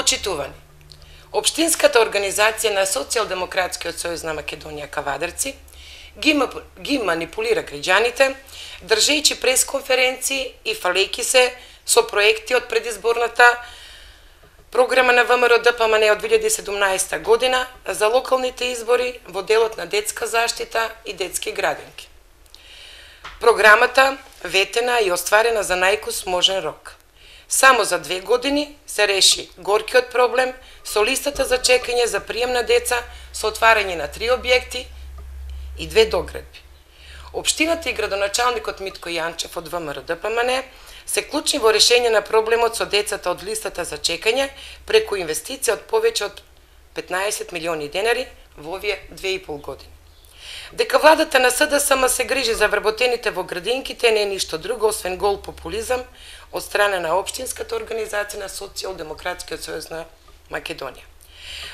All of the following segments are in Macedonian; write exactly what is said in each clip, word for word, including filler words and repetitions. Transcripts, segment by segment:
Почитувани, Општинската организација на Социјалдемократскиот сојуз на Македонија Кавадарци ги, ги манипулира граѓаните, држејќи пресконференции и фалејќи се со проекти од предизборната програма на ВМРО-ДПМН од две илјади и седумнаесета година за локалните избори во делот на детска заштита и детски градинки. Програмата ветена и остварена за најкус можен рок. Само за две години се реши горкиот проблем со листата за чекање за прием на деца со отварање на три објекти и две доградби. Општината и градоначалникот Митко Јанчев од ВМРО-ДПМН се клучни во решење на проблемот со децата од листата за чекање преку инвестиција од повеќе од петнаесет милиони денари во овие две и пол години. Дека владата на СДСМ се грижи за вработените во градинките не е ништо друго освен гол популизам од страна на Општинската организација на Социјалдемократскиот сојуз на Македонија.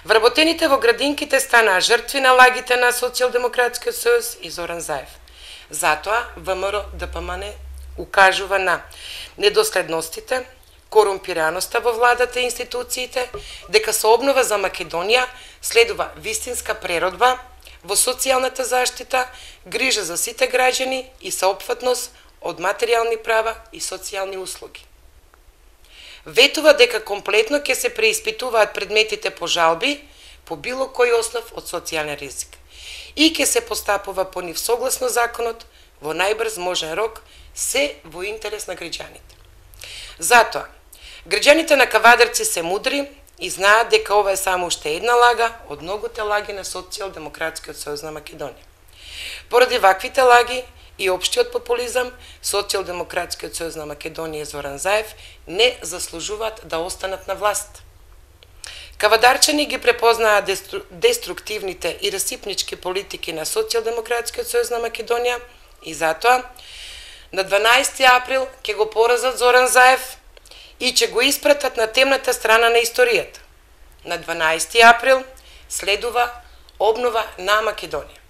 Вработените во градинките станаа жртви на лагите на Социјалдемократскиот сојуз и Зоран Заев. Затоа ВМРО-ДПМН укажува на недоследностите, корумпираноста во владата и институциите, дека со обнова за Македонија следува вистинска преродба во социјалната заштита, грижа за сите граѓани и соопфатност од материјални права и социјални услуги. Ветува дека комплетно ќе се преиспитуваат предметите по жалби по било кој основ од социјален ризик и ќе се постапува по нив согласно законот во најбрз можен рок, се во интерес на граѓаните. Затоа, граѓаните на Кавадарци се мудри и знаат дека ова е само уште една лага од многуте лаги на Социјалдемократскиот сојуз на Македонија. Поради ваквите лаги и општиот популизам, Социјалдемократскиот сојуз на Македонија и Зоран Заев не заслужуваат да останат на власт. Кавадарчани ги препознаа дестру... деструктивните и расипнички политики на Социјалдемократскиот сојуз на Македонија и затоа на дванаесети април ќе го поразат Зоран Заев и ќе го испратат на темната страна на историјата. На дванаесети април следува обнова на Македонија.